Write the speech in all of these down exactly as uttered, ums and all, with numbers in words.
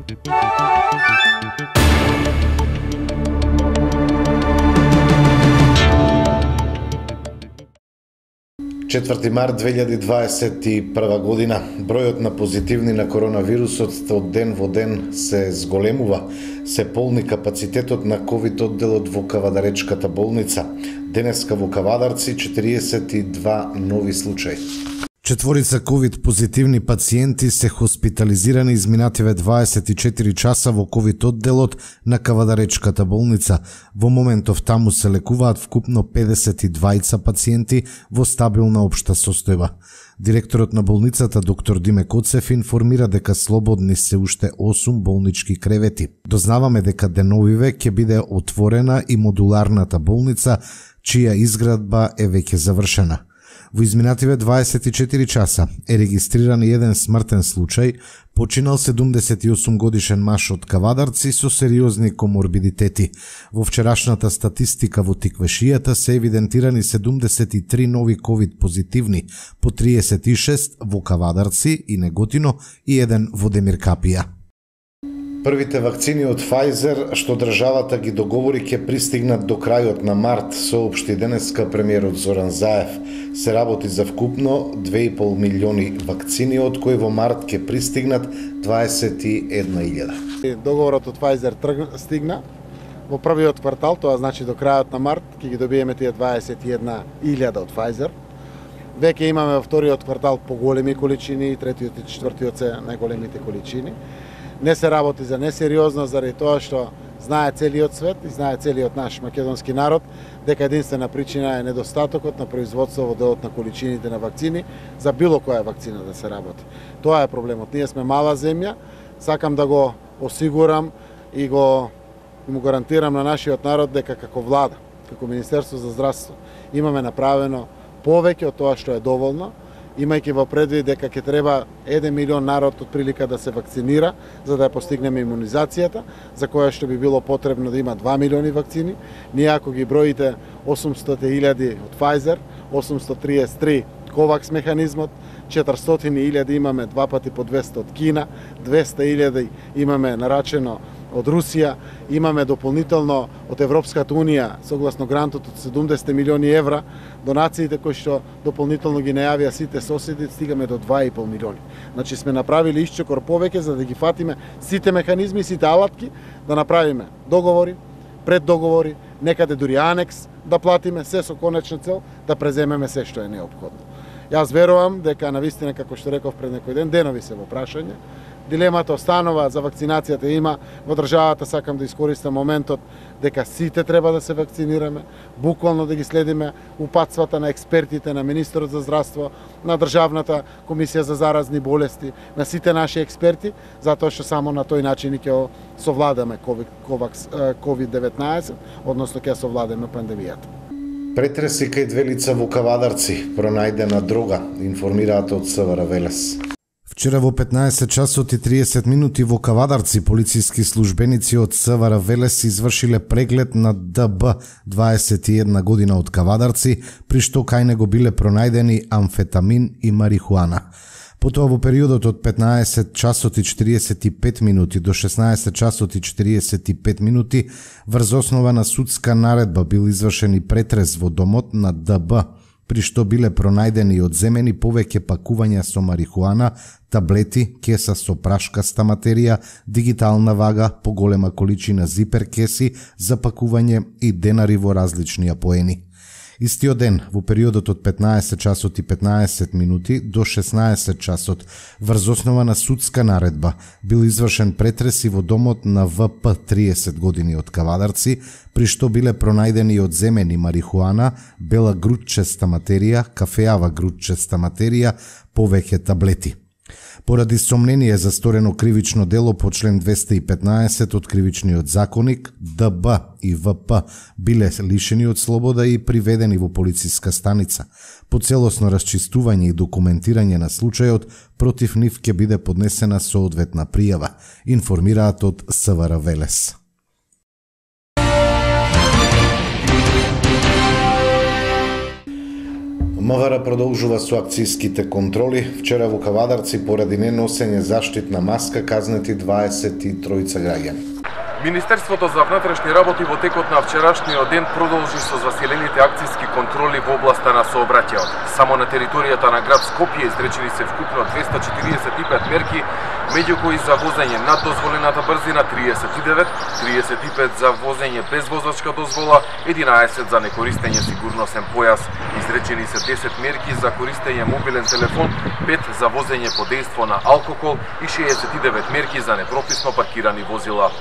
четврти март две илјади дваесет и прва година, бројот на позитивни на коронавирусот од ден во ден се зголемува, се полни капацитетот на ковид одделот во Кавадаречката болница. Денеска во Кавадарци четириесет и два нови случаи. Четворица ковид позитивни пациенти се хоспитализирани изминативе дваесет и четири часа во ковид одделот на Кавадаречката болница. Во моментов таму се лекуваат вкупно педесет и дваица пациенти во стабилна општа состојба. Директорот на болницата доктор Диме Коцев информира дека слободни се уште осум болнички кревети. Дознаваме дека деновиве ќе биде отворена и модуларната болница, чија изградба е веќе завршена. Во изминативе дваесет и четири часа е регистриран еден смртен случај, починал седумдесет и осум годишен маж од Кавадарци со сериозни коморбидитети. Во вчерашната статистика во Тиквешијата се евидентирани седумдесет и три нови ковид позитивни, по триесет и шест во Кавадарци и Неготино и еден во Демиркапија. Првите вакцини од Pfizer, што државата ги договори, ќе пристигнат до крајот на март, соопшти денеска премиерот Зоран Заев. Се работи за вкупно две и пол милиони вакцини, од кои во март ќе пристигнат дваесет и една илјада. Договорот од Pfizer стигна во првиот квартал, тоа значи до крајот на март, ќе ги добиеме тие дваесет и една илјада од Pfizer. Веќе имаме во вториот квартал поголеми количини, третиот и четвртиот се најголемите количини. Не се работи за несериозно, заради тоа што знае целиот свет и знае целиот наш македонски народ дека единствена причина е недостатокот на производство во делот на количините на вакцини за било која вакцина да се работи. Тоа е проблемот. Ние сме мала земја, сакам да го осигурам и го и му гарантирам на нашиот народ дека како влада, како Министерство за здравство имаме направено повеќе од тоа што е доволно, имајќи во предвид дека ќе треба еден милион народ од прилика да се вакцинира за да ја постигнеме имунизацијата, за која што би било потребно да има два милиони вакцини. Ние ако ги броите осумстотини илјади од Pfizer, осумстотини триесет и три Ковакс механизмот, четиристотини илјади имаме два пати по двесте од Кина, двесте илјади имаме нарачено од Русија, имаме дополнително од Европската унија, согласно грантот од седумдесет милиони евра, донациите кои што дополнително ги најавија сите соседи, стигаме до два и пол милиони. Значи сме направили исчекор повеќе за да ги фатиме сите механизми, сите алатки, да направиме договори, преддоговори, некаде дури анекс да платиме, се со конечна цел да преземеме се што е неопходно. Јас верувам дека навистина, како што реков пред некој ден, денови се во прашање. Дилемата останува, за вакцинацијата има во државата, сакам да искористам моментот дека сите треба да се вакцинираме, буквално да ги следиме упатствата на експертите, на министерот за здравство, на Државната комисија за заразни болести, на сите наши експерти, затоа што само на тој начин ќе совладаме ковид деветнаесет, односно ќе совладаме пандемијата. Претреси кај две лица во Кавадарци, пронајдена дрога, информираат од СВР Велес. Вчера во петнаесет часот и триесет минути во Кавадарци полициски службеници од СВР Велес извршиле преглед на Д Б, дваесет и една година од Кавадарци, при што кај него биле пронајдени амфетамин и марихуана. Потоа во периодот од петнаесет часот и четириесет и пет минути до шеснаесет часот и четириесет и пет минути врз основа на судска наредба бил извршен и претрес во домот на Д Б, при што биле пронајдени и одземени повеќе пакувања со марихуана, таблети, кеса со прашкаста материја, дигитална вага, поголема количина зипер кеси за пакување и денари во различни апоени. Истиот ден, во периодот од петнаесет часот и петнаесет минути до шеснаесет часот, врз основа на судска наредба, бил извршен претрес и во домот на В П триесет години од Кавадарци, при што биле пронајдени и одземени марихуана, бела грудчеста материја, кафеава грудчеста материја, повеќе таблети. Поради сомнение за сторено кривично дело по член двесте и петнаесет од Кривичниот законник, Д Б и В П биле лишени од слобода и приведени во полициска станица. По целосно расчистување и документирање на случајот, против нив ќе биде поднесена соодветна пријава, информираат од СВР Велес. МВР продолжува со акцијските контроли. Вчера во Кавадарци поради неносење заштитна маска казнети дваесет и тројца граѓани. Министерството за внатрешни работи во текот на вчерашниот ден продолжи со засилените акцијски контроли во областа на сообраќајот. Само на територијата на град Скопје изречени се вкупно двеста четириесет и пет мерки, меѓу кои за возење над дозволената брзина триесет и девет, триесет и пет за возење без возачка дозвола, единаесет за некористење сигурносен појас. Изречени се десет мерки за користење мобилен телефон, пет за возење под дејство на алкохол и шеесет и девет мерки за непрописно паркирани возила.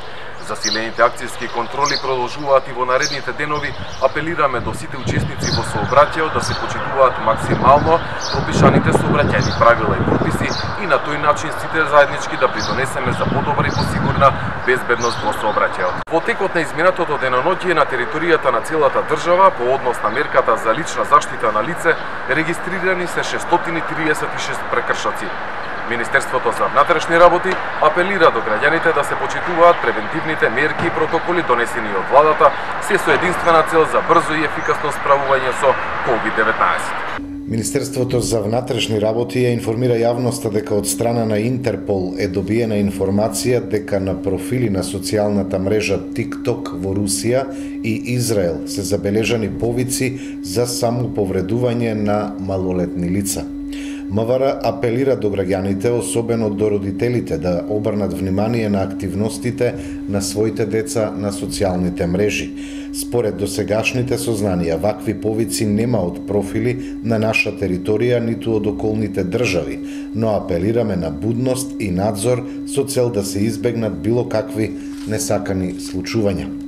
Засилените акцијски контроли продолжуваат и во наредните денови. Апелираме до сите учесници во сообраќајот да се почитуваат максимално пропишаните сообраќајни правила и прописи и на тој начин сите заеднички да придонесеме за подобра и посигурна безбедност во сообраќајот. Во текот на изминатото деноноќие на територијата на целата држава по однос на мерката за лична заштита на лице регистрирани се шестстотини триесет и шест прекршоци. Министерството за внатрешни работи апелира до граѓаните да се почитуваат превентивните мерки и протоколи донесени од владата, се со единствена цел за брзо и ефикасно справување со ковид деветнаесет. Министерството за внатрешни работи ја информира јавноста дека од страна на Интерпол е добиена информација дека на профили на социјалната мрежа TikTok во Русија и Израел се забележани повици за самоповредување на малолетни лица. МВР апелира до граѓаните, особено до родителите, да обрнат внимание на активностите на своите деца на социјалните мрежи. Според досегашните сознанија, вакви повици нема од профили на наша територија ниту од околните држави, но апелираме на будност и надзор со цел да се избегнат било какви несакани случувања.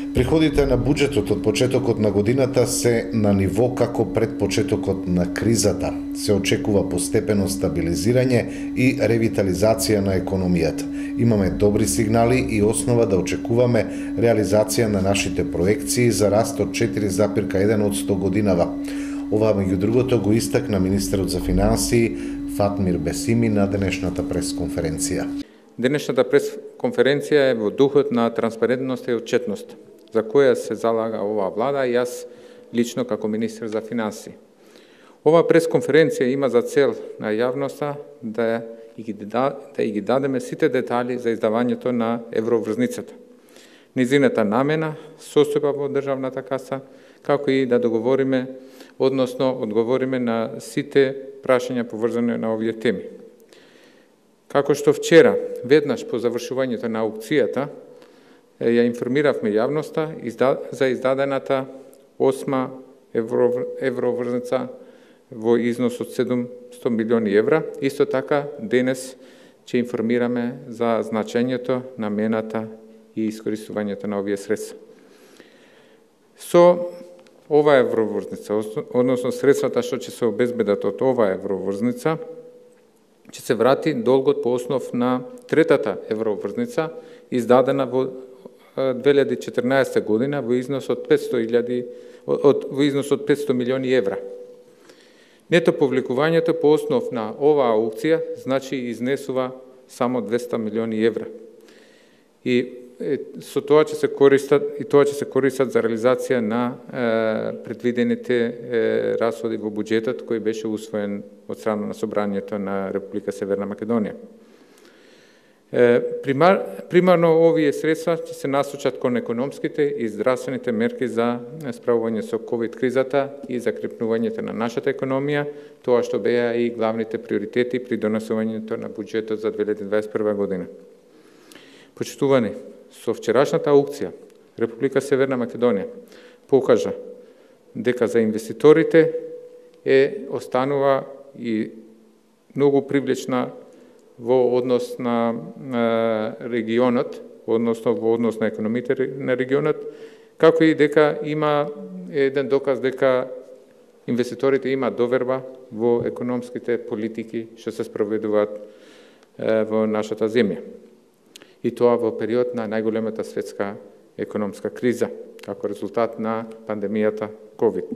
Приходите на буџетот од почетокот на годината се на ниво како пред почетокот на кризата. Се очекува постепено стабилизирање и ревитализација на економијата. Имаме добри сигнали и основа да очекуваме реализација на нашите проекции за раст од четири запирка еден од сто годинава. Ова меѓу другото го истакна министерот за финансии Фатмир Бесими на денешната пресконференција. Денешната пресконференција е во духот на транспарентност и отчетност, за која се залага оваа влада и јас лично како министер за финансии. Ова пресконференција има за цел на јавноста да ги, да, да ги дадеме сите детали за издавањето на евроврзницата, низината намена, состојба во државната каса, како и да договориме, односно одговориме на сите прашања поврзани на овие теми. Како што вчера, веднаш по завршувањето на аукцијата, ја информиравме јавноста за издадената осма евроврзница во износ од седумстотини милиони евра. Исто така, денес ќе информираме за значењето, намената и искористувањето на овие средства. Со ова евроврзница, односно средствата што ќе се обезбедат од ова евроврзница, ќе се врати долгот по основ на третата евроврзница, издадена во две илјади и четрнаесетта година во износ од петсто илјади од во износ од петсто милиони евра. Нето повлекувањето по основ на оваа аукција значи изнесува само двесте милиони евра. И со тоа ќе се користат и тоа ќе се користат за реализација на е, предвидените е, расходи во буџетот кој беше усвоен од страна на Собранието на Република Северна Македонија. Е, примар, примарно овие средства ќе се насочат кон економските и здравствените мерки за справување со ковид кризата и закрепнувањето на нашата економија, тоа што беа и главните приоритети при донесувањето на буџетот за две илјади дваесет и прва година. Почитувани, со вчерашната аукција, Република Северна Македонија покажа дека за инвеститорите е останува и многу привлечна во однос на, на регионот, односно во однос на економите на регионот, како и дека има еден доказ дека инвеститорите имаат доверба во економските политики што се спроведуваат е, во нашата земја. И тоа во период на најголемата светска економска криза, како резултат на пандемијата ковид.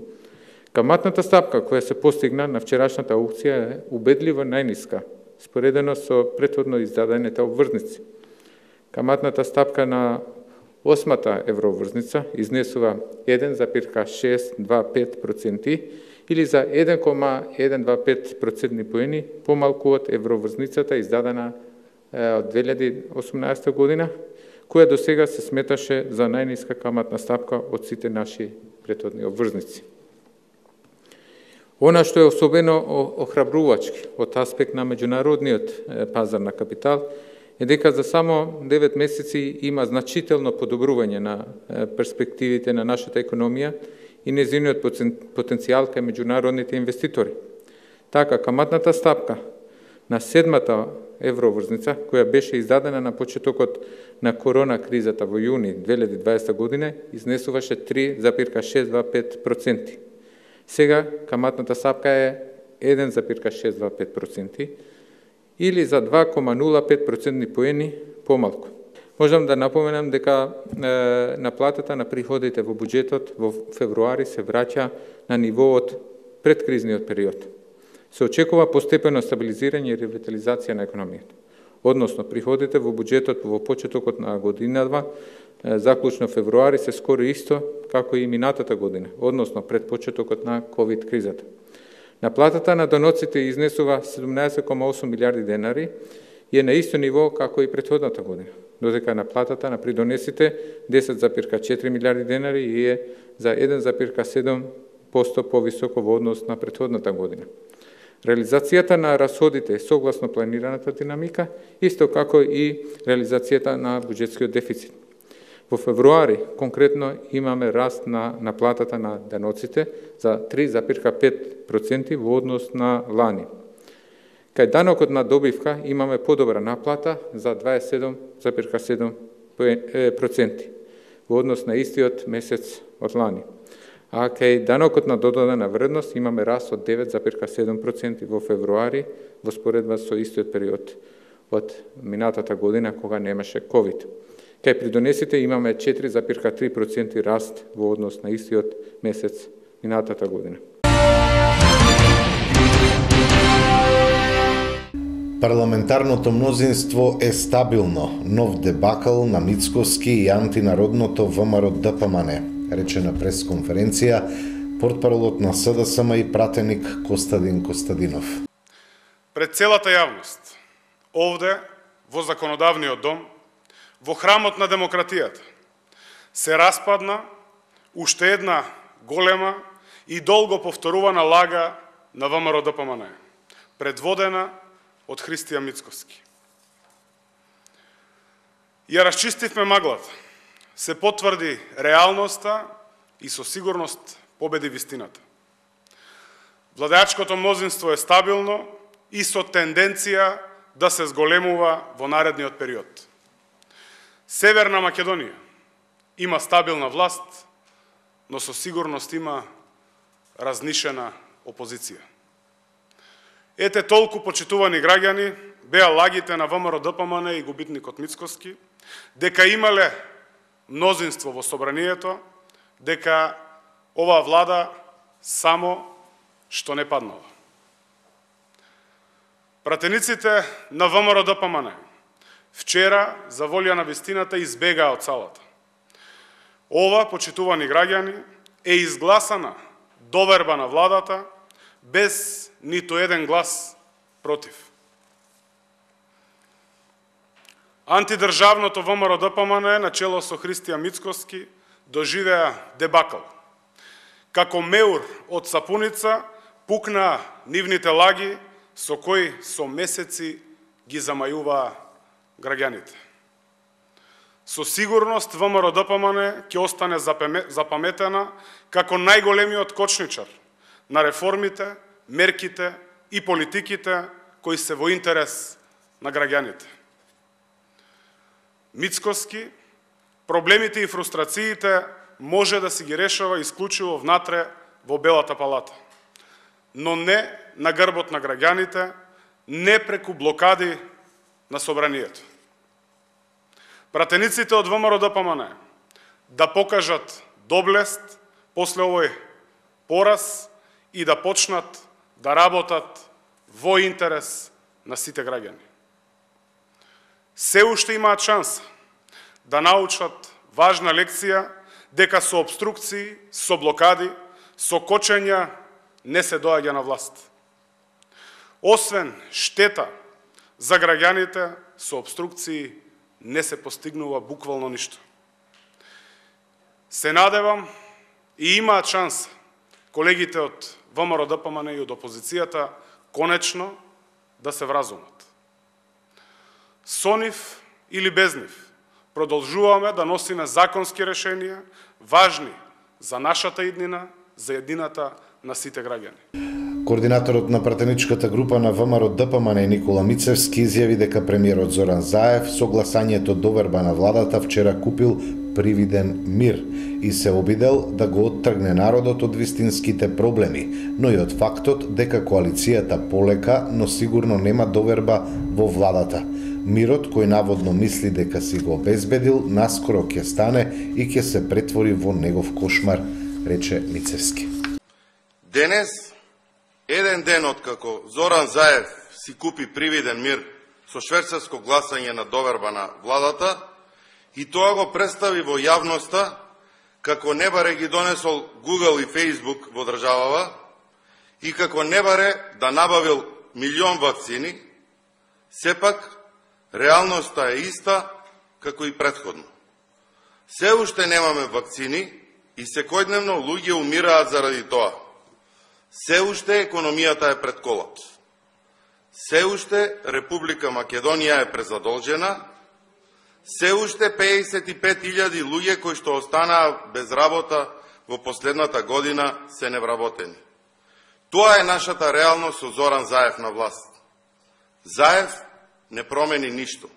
Каматната стапка која се постигна на вчерашната аукција е убедливо најниска, споредено со претходно издадените обврзници. Каматната стапка на осмата евроврзница изнесува еден зарез шест дваесет и пет проценти или за еден кoma еден дваесет и пет процентни поени помалку од евроврзницата издадена од две илјади и осумнаесета година, која до сега се сметаше за најниска каматна стапка од сите наши претходни обврзници. Она што е особено охрабрувачки од аспект на меѓународниот пазар на капитал е дека за само девет месеци има значително подобрување на перспективите на нашата економија и незиниот потенцијал кај меѓународните инвеститори. Така, каматната стапка на седмата евроврзница, која беше издадена на почетокот на корона кризата во јуни две илјади и дваесета година, изнесуваше три зарез шест дваесет и пет проценти. Сега каматната стапка е еден зарез шест дваесет и пет проценти или за два кома нула пет процентни поени помалку. Можам да напоменам дека е, наплатата на приходите во буџетот во февруари се враќа на ниво од предкризниот период. Се очекува постепено стабилизирање и ревитализација на економијата. Односно, приходите во буџетот во почетокот на годината, заклучно февруари, се скоро исто како и минатата година, односно пред почетокот на ковид кризата. Наплатата на доноците изнесува седумнаесет кома осум милиарди денари и е на исто ниво како и претходната година, додека наплатата на придонесите десет зарез четири милиарди денари и е за еден зарез седум проценти повисоко во однос на претходната година. Реализацијата на расходите е согласно планираната динамика, исто како и реализацијата на буџетскиот дефицит. Во февруари конкретно имаме раст на наплатата на даноците за три зарез пет проценти во однос на лани. Кај данокот на добивка имаме подобра наплата за дваесет и седум зарез седум проценти во однос на истиот месец од лани. А кај данокот на додадена вредност имаме раст од девет зарез седум проценти во февруари во споредба со истиот период од минатата година кога немаше ковид. Кај придонесите имаме четири зарез три проценти раст во однос на истиот месец минатата година. Парламентарното мнозинство е стабилно. Нов дебакл на Мицкоски и антинародното ВМРО-ДПМН, рече на пресконференција портпаролот на СДСМ и пратеник Костадин Костадинов. Пред целата јавност, овде, во законодавниот дом, во храмот на демократијата, се распадна уште една голема и долго повторувана лага на ВМРО-ДПМН, предводена од Христијан Мицкоски. Ја расчистивме маглата, се потврди реалноста и со сигурност победи вистината. Владеачкото мнозинство е стабилно и со тенденција да се зголемува во наредниот период. Северна Македонија има стабилна власт, но со сигурност има разнишена опозиција. Ете толку, почитувани граѓани, беа лагите на ВМРО-ДПМН и губитникот Мицкоски, дека имале мнозинство во собранието, дека оваа влада само што не паднала. Пратениците на ВМРО-ДПМН вчера, за волја на вистината, избегаа од салата. Ова, почитувани граѓани, е изгласана доверба на владата без ниту еден глас против. Антидржавното ВМРО-ДПМН на чело со Христијан Мицкоски доживеа дебакл. Како меур од сапуница пукнаа нивните лаги со кои со месеци ги замајуваа граѓаните. Со сигурност ВМРО-ДПМН ќе остане запаметена како најголемиот кочничар на реформите, мерките и политиките кои се во интерес на граѓаните. Мицкоски, проблемите и фрустрациите може да си ги решава исклучиво внатре во Белата палата, но не на грбот на граѓаните, не преку блокади на собранието. Пратениците од ВМРО-ДПМН да покажат доблест после овој пораз и да почнат да работат во интерес на сите граѓани. Се уште имаат шанса да научат важна лекција дека со обструкции, со блокади, со кочења не се доаѓа на власт. Освен штета за граѓаните, со обструкции не се постигнува буквално ништо. Се надевам и имаат шанса колегите од ВМРО-ДПМН и од опозицијата конечно да се вразумат. Со нив или без нив продолжуваме да носиме законски решенија, важни за нашата иднина, за еднината на сите граѓани. Координаторот на пратеничката група на ВМРО-ДПМН Никола Мицевски изјави дека премиерот Зоран Заев со гласањето доверба на владата вчера купил привиден мир и се обидел да го оттргне народот од вистинските проблеми, но и од фактот дека коалицијата полека, но сигурно нема доверба во владата. Мирот, кој наводно мисли дека си го обезбедил, наскоро ќе стане и ќе се претвори во негов кошмар, рече Мицевски. Денес, еден ден откако Зоран Заев си купи привиден мир со шверцарско гласање на доверба на владата, и тоа го представи во јавноста како не баре ги донесол Google и Facebook во државава и како не баре да набавил милион вакцини, сепак реалноста е иста како и претходно. Се уште немаме вакцини и секојдневно луѓе умираат заради тоа. Се уште економијата е пред колапс. Се уште Република Македонија е презадолжена. Се уште пеесет и пет илјади луѓе кои што останаа без работа во последната година се невработени. Тоа е нашата реалност со Зоран Заев на власт. Заев не промени ништо.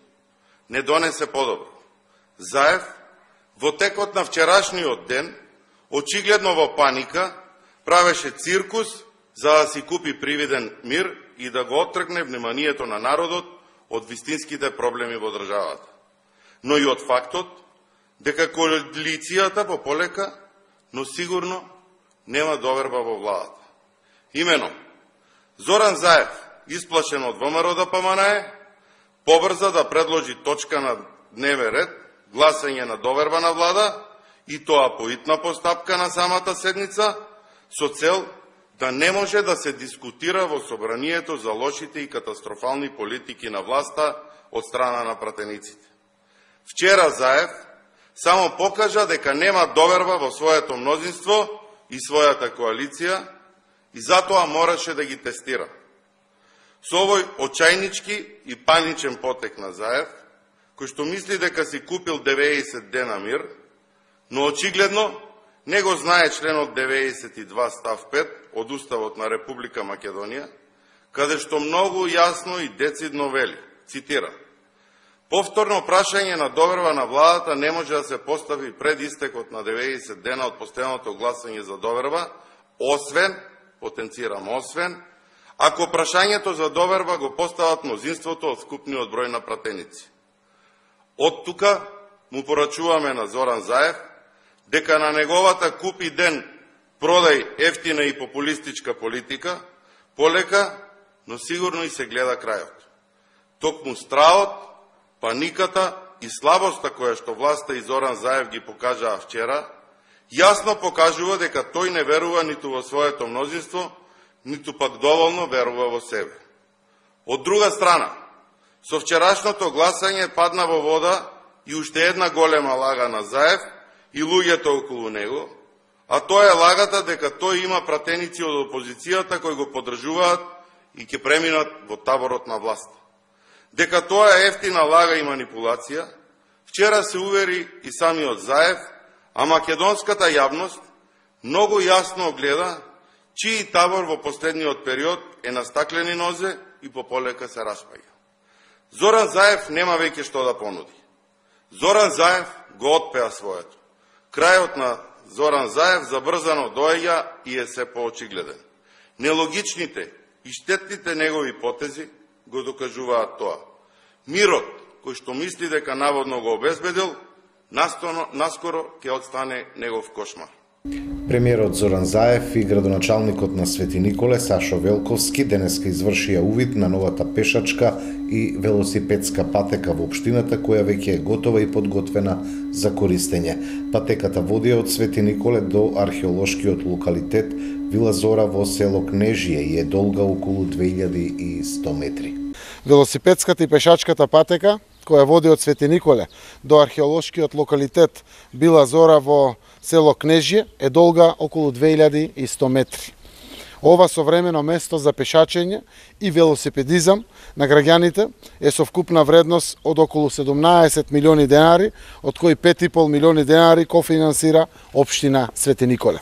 Не донесе подобро. Заев во текот на вчерашниот ден, очигледно во паника, правеше циркус за да си купи привиден мир и да го оттргне вниманието на народот од вистинските проблеми во државата. Но и од фактот дека коалицијата пополека, но сигурно нема доверба во владата. Имено, Зоран Заев, исплашен од ВМРО-ДПМН, побрза да предложи точка на дневен ред, гласање на доверба на влада, и тоа по итна постапка на самата седница, со цел да не може да се дискутира во собранието за лошите и катастрофални политики на власта од страна на пратениците. Вчера Заев само покажа дека нема доверба во своето мнозинство и својата коалиција и затоа мораше да ги тестира. Со овој очајнички и паничен потек на Заев, кој што мисли дека си купил деветдесет дена мир, но очигледно не го знае членот деветдесет и два став пет од Уставот на Република Македонија, каде што многу јасно и децидно вели, цитира: повторно прашање на доверба на владата не може да се постави пред истекот на деветдесет дена од последното гласање за доверба, освен, потенцирам освен, ако прашањето за доверба го постават мнозинството од скупниот број на пратеници. Од тука му порачуваме на Зоран Заев дека на неговата купи ден продај ефтина и популистичка политика полека, но сигурно и се гледа крајот. Токму страот, паниката и слабоста која што власта и Зоран Заев ги покажаа вчера, јасно покажува дека тој не верува ниту во своето мнозинство, ниту пак доволно верува во себе. Од друга страна, со вчерашното гласање падна во вода и уште една голема лага на Заев и луѓето околу него, а тоа е лагата дека тој има пратеници од опозицијата кои го поддржуваат и ќе преминат во таборот на власт. Дека тоа е ефтина лага и манипулација, вчера се увери и самиот Заев, а македонската јавност многу јасно огледа чиј табор во последниот период е на стаклени нозе и пополека се распаѓа. Зоран Заев нема веќе што да понуди. Зоран Заев го отпеа своето. Крајот на Зоран Заев забрзано доаѓа и е се поочигледен. Нелогичните и штетните негови потези го докажуваат тоа. Мирот, кој што мисли дека наводно го обезбедил, наскоро ќе отстане негов кошмар. Премиерот Зоран Заев и градоначалникот на Свети Николе Сашо Велковски денеска извршија увид на новата пешачка и велосипедска патека во општината, која веќе е готова и подготвена за користење. Патеката води од Свети Николе до археолошкиот локалитет Вила Зора во село Кнежие и е долга околу две илјади и сто метри. Велосипедската и пешачката патека која води од Свети Николе до археолошкиот локалитет Вила Зора во село Кнежие е долга околу две илјади и сто метри. Ова современо место за пешачење и велосипедизам на граѓаните е со вкупна вредност од околу седумнаесет милиони денари, од кои пет и пол милиони денари кофинансира општина Свети Николе.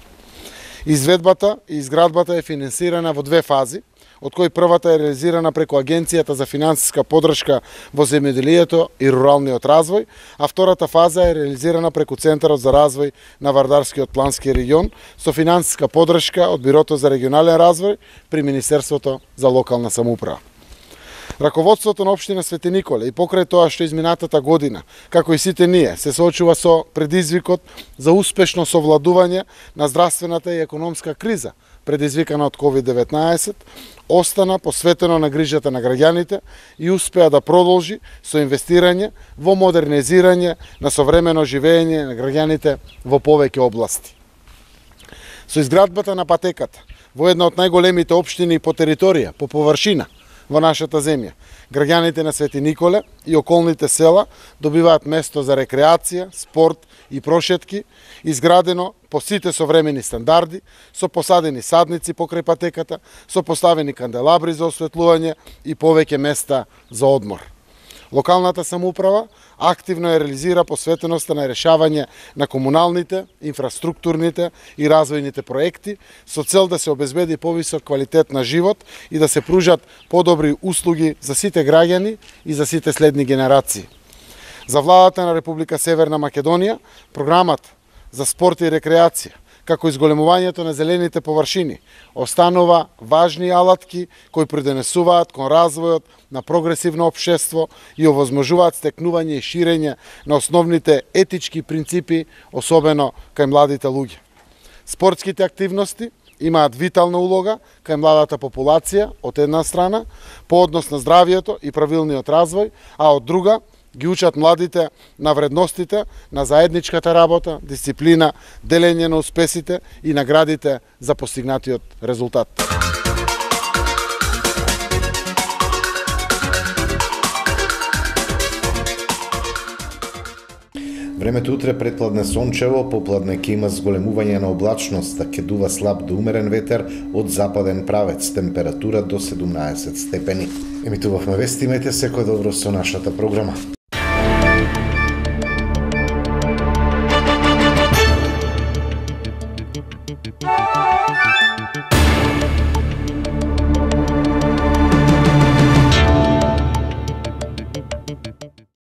Изведбата и изградбата е финансирана во две фази, од кои првата е реализирана преку Агенцијата за финансиска поддршка во земјоделието и руралниот развој, а втората фаза е реализирана преку Центарот за развој на Вардарскиот плански регион со финансиска поддршка од Бирото за регионален развој при Министерството за локална самоуправа. Раководството на општина Свети Николе и покрај тоа што изминатата година, како и сите ние, се соочува со предизвикот за успешно совладување на здравствената и економска криза предизвикана од ковид деветнаесет, остана посветено на грижата на граѓаните и успеа да продолжи со инвестирање во модернизирање на современо живење на граѓаните во повеќе области. Со изградбата на патеката во една од најголемите општини по територија, по површина во нашата земја, граѓаните на Свети Николе и околните села добиваат место за рекреација, спорт и прошетки, изградено по сите современи стандарди, со посадени садници покрај патеката, со поставени канделабри за осветлување и повеќе места за одмор. Локалната самоуправа активно ја реализира посветеноста на решавање на комуналните, инфраструктурните и развојните проекти со цел да се обезбеди повисок квалитет на живот и да се пружат подобри услуги за сите граѓани и за сите следни генерации. За владата на Република Северна Македонија, програмат за спорт и рекреација, како изголемувањето на зелените површини, останува важни алатки кои придонесуваат кон развојот на прогресивно општество и овозможуваат стекнување и ширење на основните етички принципи, особено кај младите луѓе. Спортските активности имаат витална улога кај младата популација од една страна, по однос на здравието и правилниот развој, а од друга ги учат младите на вредностите на заедничката работа, дисциплина, делење на успесите и наградите за постигнатиот резултат. Времето утре предпладне сончево, попладне ќе има зголемување на облачност, да ќе дува слаб до умерен ветер од западен правец, температура до седумнаесет степени. Емитувавме вести, имајте секој добро со нашата програма.